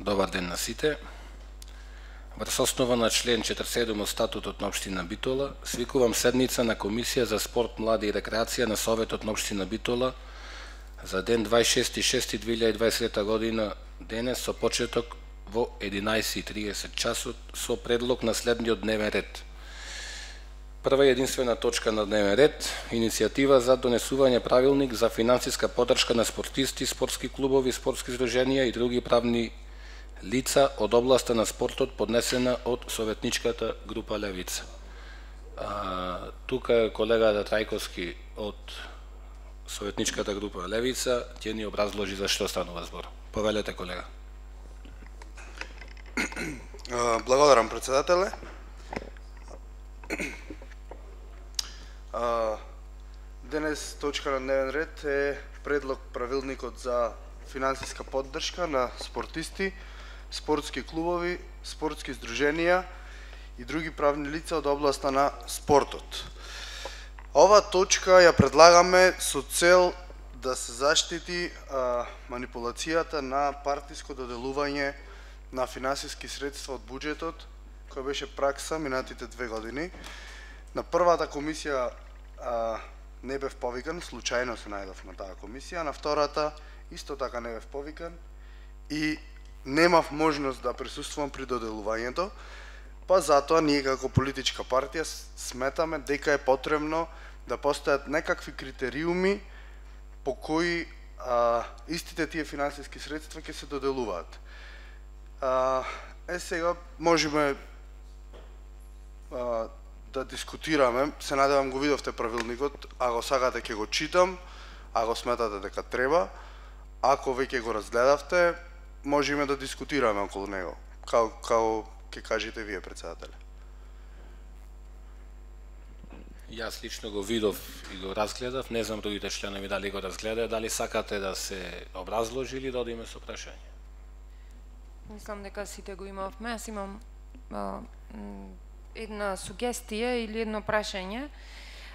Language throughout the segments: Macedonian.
Добар ден на сите. Врз основа на член 47 од статутот на општина Битола, свикувам седница на Комисија за спорт, млади и рекреација на Советот на општина Битола за ден 26.6.2023 година, денес со почеток во 11:30 часот со предлог на следниот дневен ред. Прва и единствена точка на дневен ред, иницијатива за донесување правилник за финансиска поддршка на спортисти, спортски клубови, спортски здруженија и други правни лица од областа на спортот, поднесена од советничката група Левица. Тука е колегата Трајковски од советничката група Левица, ќе ни образложи за што станува збор. Повелете, колега. Благодарам, председателе. Денес точка на дневен ред е предлог правилникот за финансиска поддршка на спортисти, спортски клубови, спортски здруженија и други правни лица од областа на спортот. Ова точка ја предлагаме со цел да се заштити манипулацијата на партиско доделување на финансиски средства од буџетот, која беше пракса минатите 2 години. На првата комисија не бев повикан, случајно се најдов на таа комисија, на втората исто така не бев повикан и немав можност да присуствувам при доделувањето, па затоа ние како политичка партија сметаме дека е потребно да постојат некакви критериуми по кои истите тие финансиски средства ќе се доделуваат. Сега можеме да дискутираме, се надевам го видовте правилникот, ако сакате ќе го читам, ако сметате дека треба, ако веќе го разгледавте, можеме да дискутираме околу него, како ќе кажете вие, председателе. Јас лично го видов и го разгледав, не знам другите членови дали го разгледаат, дали сакате да се образложи или да одиме со прашање? Мислам дека сите го имавме, јас имам една сугестија или едно прашање.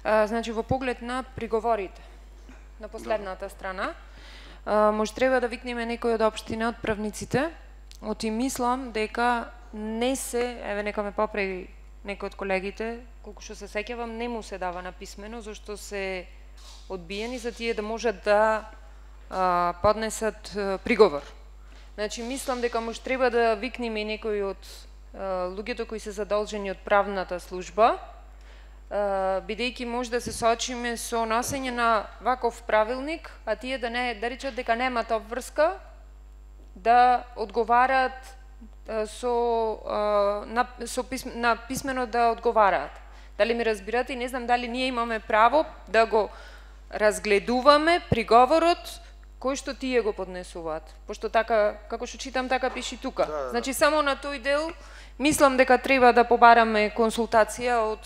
Значи, во поглед на приговорите на последната страна, може треба да викнеме некој од општина, од правниците, оти мислам дека не се, еве нека ме поправи некој од колегите, колку што се сеќавам, не му се дава на писмено, зашто се одбиени за тие да можат да поднесат приговор. Значи, мислам дека може треба да викнеме некој од луѓето кои се задолжени од правната служба, бидејќи може да се соочиме со носење на ваков правилник, а тие да не да речат дека немаат обврска да одговараат на писмено да одговараат. Дали ми разбирате? И не знам дали ние имаме право да го разгледуваме приговорот кој што тие го поднесуваат. Пошто така, како што читам, така пиши тука. Да. Значи, само на тој дел, мислам дека треба да побараме консултација од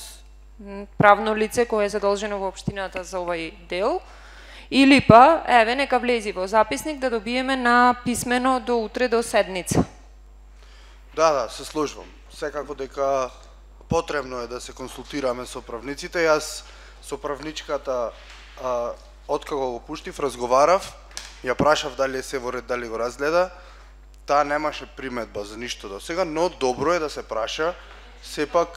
правно лице кое е задолжено во општината за овај дел, или па, еве, нека влези во записник да добиеме на писмено до утре до седница. Да, се сложувам. Секако дека потребно е да се консултираме со правниците. Јас со правничката, откако го пуштив, разговарав, ја прашав дали е се во ред, дали го разгледа. Таа немаше приметба за ништо до сега, но добро е да се праша, сепак...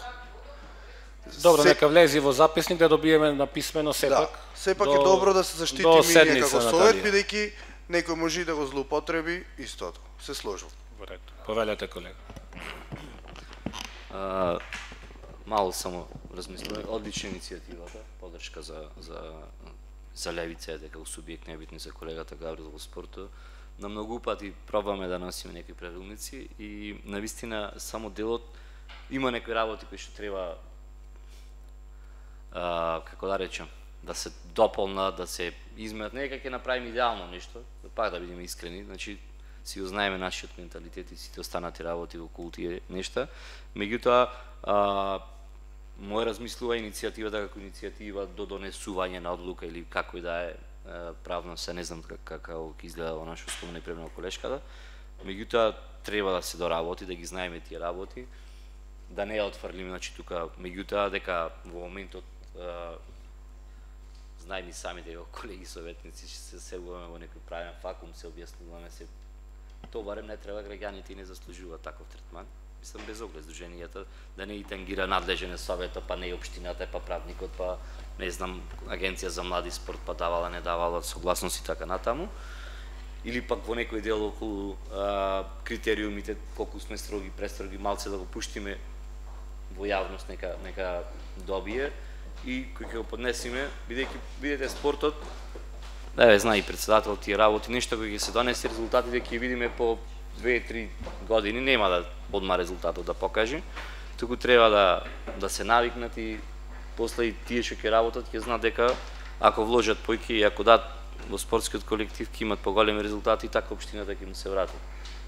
Добро, нека влези во записник да добиеме на писмено сепак. Да, сепак е добро да се заштитиме и ние како совет, бидејќи некој може да го злоупотреби истото. Се сложувам. Во ред. Повелете, колега. Мало само размислувам. Одлична иницијативата, поддршка за Левица, дека субјект небитни за колегата Гаврил во спортот. На многу пати пробаме да носиме некои правилници и навистина само делот има некои работи кои што треба како да речем, да се дополнат, да се изменат, не дека ќе направиме идеално нешто, пак да бидеме искрени, значи си го знаеме нашиот менталитет и сите останати работи околу тие нешта. Меѓутоа, моја размислува иницијативата како иницијатива до донесување на одлука или како и да е правно, се не знам како ќе изгледа во нашо спомена и премна колешката. Меѓутоа, треба да се доработи, да ги знаеме тие работи, да не ја отфрлиме, значи тука, меѓутоа дека во моментот знаеме сами дека колеги советници се сегуваме во некој правен вакуум, се објаснуваме, се Тоа барем не треба, граѓаните не заслужуваат таков третман. Мислам без оглед здруженијата да не и тангира надлежен советот, па не и општината, па правникот, па не знам агенција за млади спорт, па давала, не давала согласност и така натаму. Или пак во некој дел околу критериумите, колку сме строги, престроги, малце да го пуштиме во јавност, нека добие и кој ќе го поднесиме, бидејќи видите спортот, да знае и председател тие работи, нешто кој ќе се донесе резултатите ќе видиме по 2-3 години, нема да одма резултатот да покаже, туку треба да се навикнат и после и тие што ќе работат ќе знаат дека ако вложат појки и ако дадат во спортскиот колектив ќе имат поголеми резултати, така општината ќе му се врати.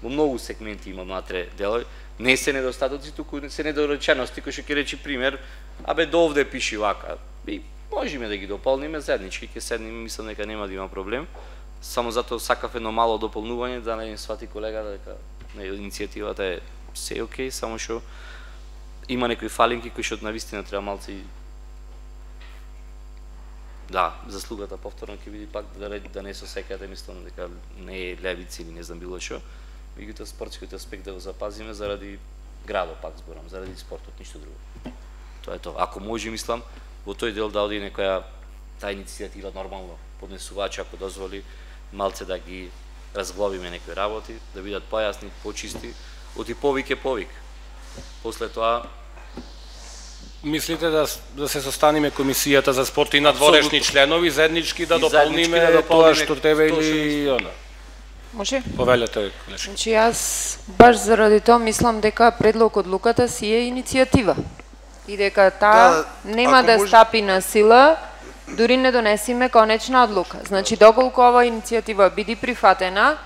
Во многу сегменти има внатре делови, не се недостатоци, туку се недоречености, кој што ќе речи пример, до овде пиши вака. И можеме да ги дополниме заеднички, ќе седнеме, мислам дека нема да има проблем. Само затоа сакав едно мало дополнување да не свати колега дека иницијативата е се окей, само што има некои фалинки кои што навистина треба малце и заслугата повторно ќе види пак да не се сеќате, мислам дека не е левици или не знам било што. Меѓутоа спортскиот аспект да го запазиме заради градот, пак зборам, заради спортот, ништо друго. Тоа е тоа. Ако може, мислам, во тој дел да оди некоја таа иницијатива нормално поднесувач, ако дозволи, малце да ги разглобиме некои работи, да бидат појасни, почисти, оти повик е повик. После тоа мислите да се состаниме комисијата за спорт и надворешни членови заеднички да дополниме тоа што треба или она? Може? Повелете, колешка. Значи јас баш заради тоа мислам дека предлог одлуката си е иницијатива и дека таа нема да стапи на сила дури не донесиме конечна одлука. Значи доколку ова иницијатива биде прифатена,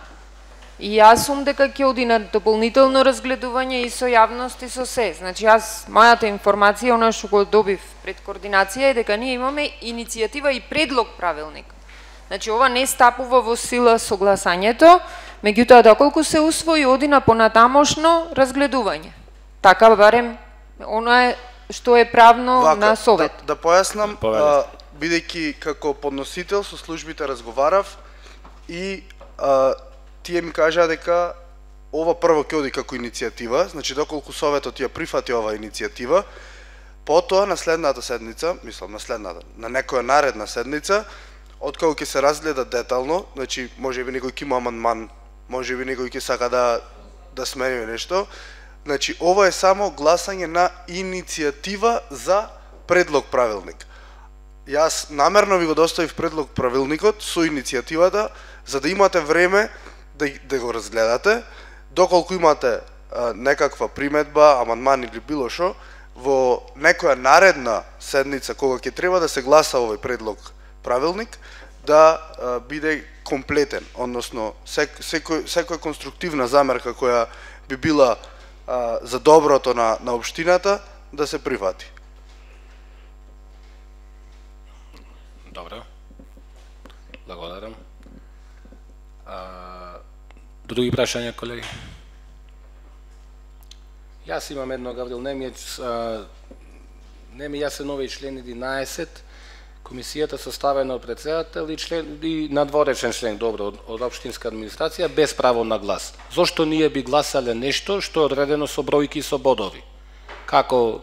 и јас сум дека ќе оди на дополнително разгледување и со јавност и со се. Значи мојата информација, она што го добив пред координација е дека ние имаме иницијатива и предлог правилник. Значи ова не стапува во сила со гласањето, меѓутоа доколку се усвои оди на понатамошно разгледување. Така барем она е што е правно на совет. Да појаснам, бидејќи како подносител со службите разговарав и тие ми кажаа дека ова прво ќе оди како иницијатива, значи доколку советот ја прифати оваа иницијатива, потоа на следната седница, мислам на некоја наредна седница, откако ќе се разгледа детално, значи можеби некој ќе има амандман, можеби некој ќе сака да смениме нешто, значи ова е само гласање на иницијатива за предлог правилник. Јас намерно ви го доставив предлог правилникот со иницијативата за да имате време да го разгледате, доколку имате некаква приметба, амандман или било што, во некоја наредна седница кога ќе треба да се гласа овој предлог правилник, да биде комплетен, односно секоја конструктивна замерка која би била за доброто на општината да се прифати. Добро. Благодарам. Други прашања, колеги? Јас имам едно, Гаврил, не ми јасен овој член 11, комисијата составена од председател и надворешен член, добро, од општинска администрација, без право на глас. Зошто ние би гласале нешто што е одредено со бројки и со бодови? Како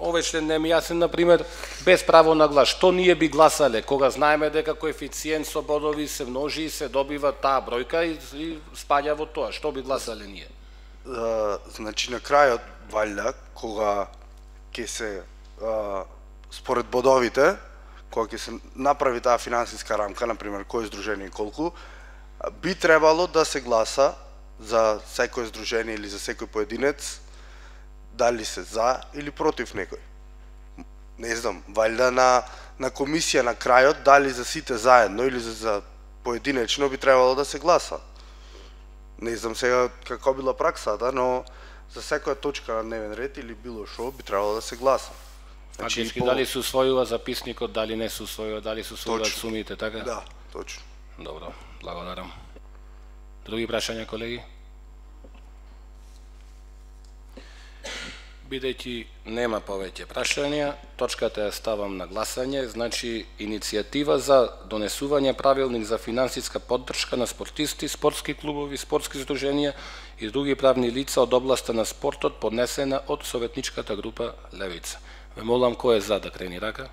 овој член не ми јасен, например, без право на глас. Што ние би гласале кога знаеме дека коефициент со бодови се множи и се добива таа бројка и спаѓа во тоа? Што би гласале ние? Значи на крајот, валјда, кога ќе се според бодовите, кога ќе се направи таа финансиска рамка, например, кој здружение и колку, би требало да се гласа за секој здружение или за секој поединец, дали се за или против некој. Не знам, валјда на комисија на крајот, дали за сите заедно или за поединечно би требало да се гласа. Не знам сега како била праксата, но за секоја точка на дневен ред или било што би требало да се гласа. Фактички дали се усвојува записникот, дали не се усвојува, дали се усвојуваат сумите, така? Да, точно. Добро, благодарам. Други прашања, колеги? Бидејќи нема повеќе прашања, точката ја ставам на гласање, значи иницијатива за донесување правилник за финансиска поддршка на спортисти, спортски клубови, спортски здруженија и други правни лица од областа на спортот, поднесена од советничката група Левица. Ве молам кој е за да крени рака?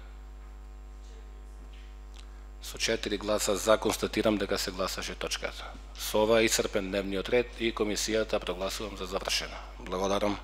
Со 4 гласа за констатирам дека се гласаше точката. Со ова исцрпен дневниот ред и комисијата прогласувам за завршена. Благодарам.